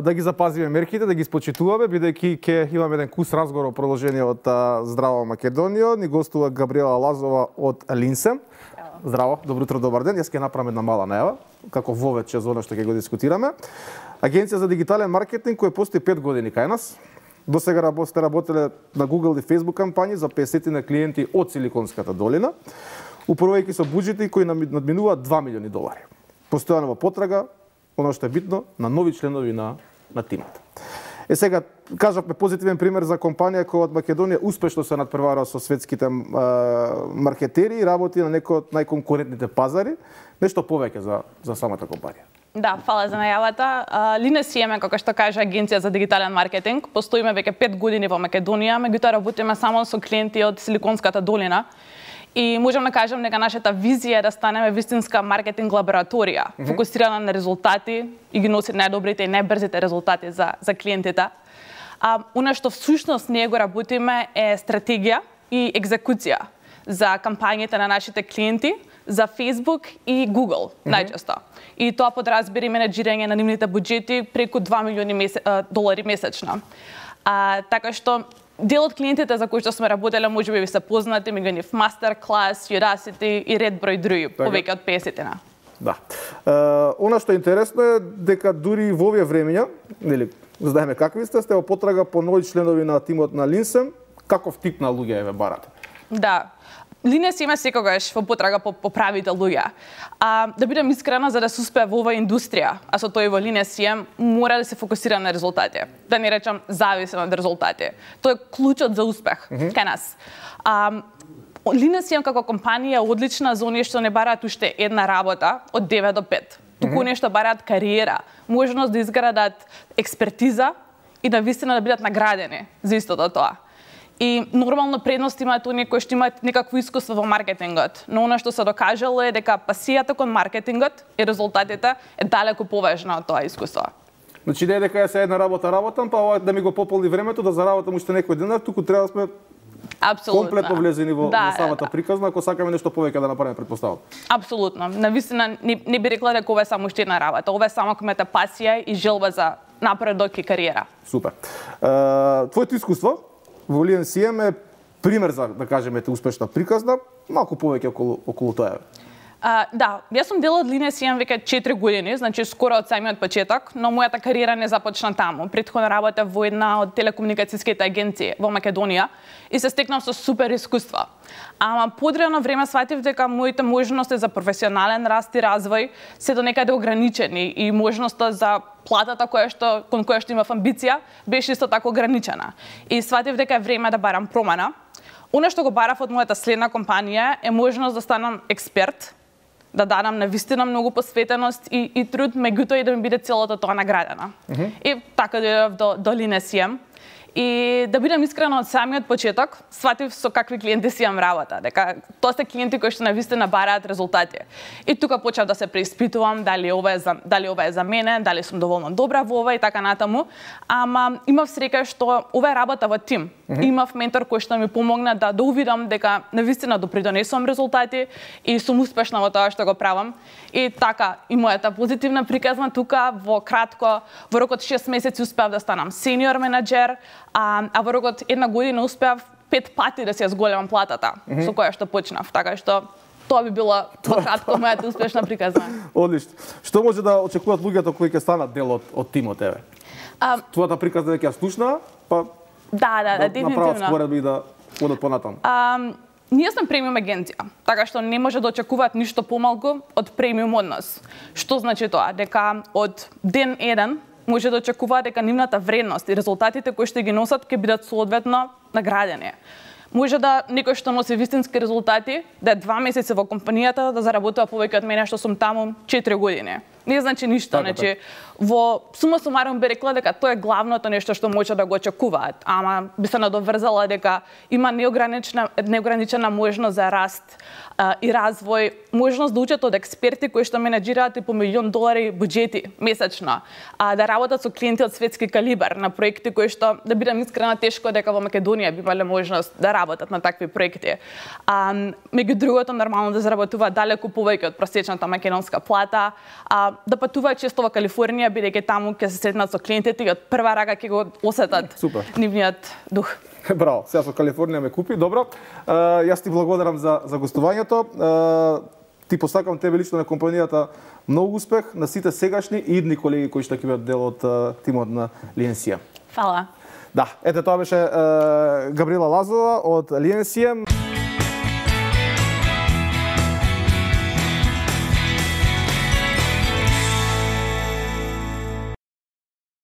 да ги запазиме мерките, да ги спочитуваме, бидејќи ќе имаме еден кус разговор во продолжение од Здраво Македонија. Ни гостува Габриела Лазова од Линсем. Здраво, добро утро, добар ден. Јас ќе направам една мала најава, како вовече за она што ќе го дискутираме. Агенција за дигитален маркетинг која постои 5 години кај нас. До сега сте работеле на Google и Facebook кампањи за 50 на клиенти од Силиконската долина, управувајќи со буџети кои надминуваат $2 милиони. Постојано во потрага, оно што е битно, на нови членови на тимот. Сега, кажавме позитивен пример за компанија која од Македонија успешно се надпревара со светските маркетери и работи на некој од најконкурентните пазари. Нешто повеќе за самата компанија. Да, фала за најавата. Линесем, како што кажа Агенција за дигитален маркетинг, постоиме веќе 5 години во Македонија, меѓутоа работиме само со клиенти од Силиконската долина. И можам да кажам дека нашата визија е да станеме вистинска маркетинг лабораторија, фокусирана на резултати и ги носи најдобрите и најбрзите резултати за клиентите. Она што всушност ние го работиме е стратегија и екзекуција за кампањите на нашите клиенти, за Facebook и Google, најчесто. И тоа подразбира и менеджирање на нивните буџети преку $2 милиони месечно. Така што дел од клиентите за кои што сме работеле можеби ви се познати, меѓу нив Masterclass, Udacity и ред број други, повеќе од 50-на. Да. Она што е интересно е дека дури во овие времења, нели, знаеме какви сте во потрага по нови членови на тимот на Линсем, каков тип на луѓе ве барате? Да. Линесем е секогаш во потрага по правите луѓе. Да бидам искрена, за да се успее во оваа индустрија, а со тој во Линесем, мора да се фокусира на резултати. Да не речам зависен од резултати. Тоа е клучот за успех кај нас. Линесем како компанија е одлична за оние што не бараат уште една работа од 9 до 5. Туку оние што бараат кариера, можност да изградат експертиза и да вистина да бидат наградени за истото тоа. И нормално предност имаат оние кои што имаат некакво искуство во маркетингот, но она што се докажало е дека пасијата кон маркетингот и резултатите е далеку поважна од тоа искуство. Значи не е дека ја се една работам, па да ми го пополни времето да заработам уште некој денар, туку треба да сме комплетно влезени во самата приказна, ако сакаме нешто повеќе да направиме, предпоставам. Апсолутно. Навистина не би рекла дека ова е само уште една работа, ова е само комета пасија и желба за напредок и кариера. Супер. Твоето искуство во Линесем е пример за, да кажеме, успешна приказна, малку повеќе околу тоа. Да, јас сум дел од Линесем веќе 4 години, значи скоро од самиот почеток, но мојата кариера не започна таму. Претходно работев во една од телекомуникацијските агенции во Македонија и се стекнав со супер искуства. Ама подрано време сватив дека моите можности за професионален раст и развој се до некаде ограничени и можноста за платата кон која што имав амбиција беше исто така ограничена. И сватив дека е време да барам промена. Она што го барав од мојата следна компанија е можност да станам експерт, да дадам навистина многу посветеност и труд, меѓутоа и да ми биде целото тоа наградено. И така дојдов до Линесем. И да бидам искрена, од самиот почеток, сватив со какви клиенти си имам работа, дека тоа се клиенти кои што навистина бараат резултати. И тука почнав да се преиспитувам дали ова е за мене, дали сум доволно добра во ова и така натаму. Ама имав среќа што ова е работа во тим. Имав ментор кој што ми помогна да увидам дека навистина допридонесувам резултати и сум успешна во тоа што го правам. И така, и мојата позитивна приказна тука во кратко, во рок од 6 месеци успеав да станам сениор менаџер, а во рок од една година успеав 5 пати да си ја зголемам платата со која што почнав. Така што тоа би било во кратко мојата успешна приказна. Одлично. Што може да очекуваат луѓето кои ќе станат дел од тимот еве? Твојата приказна веќе ја слушнаа, па да, дефинитивно. Направат споредби да одат понатаму. Ние сме премиум агенција, така што не може да очекуваат ништо помалку од премиум од нас. Што значи тоа? Дека од ден 1 може да очекуваат дека нивната вредност и резултатите кои што ги носат ќе бидат соодветно наградени. Може да некој што носи вистински резултати, да е 2 месеци во компанијата, да заработува повеќе од мене што сум таму 4 години. Не значи ништо, значи во сума сумарум би рекла дека тоа е главното нешто што може да го очекуваат, ама би се надоврзала дека има неограничена можност за раст и развој, можност да учат од експерти кои што менеџираат и по $1 милион буџети месечно, да работат со клиенти од светски калибар на проекти кои што, да бидам искрена, тешко дека во Македонија би имале можност да работат на такви проекти. Меѓу другото, нормално да заработуваат далеку повеќе од просечната македонска плата. да патуваат често во Калифорнија, бидејќи таму ќе се сретнат со клиентите и од прва рага ќе го осетат нивниот дух. Браво, сега со Калифорнија ме купи, добро. Јас ти благодарам за гостувањето. Ти посакам тебе лично на компанијата многу успех, на сите сегашни и идни колеги кои што ќе бидат дел од тимот на Ленсија. Фала. Да, ете тоа беше Габриела Лазова од Ленсија.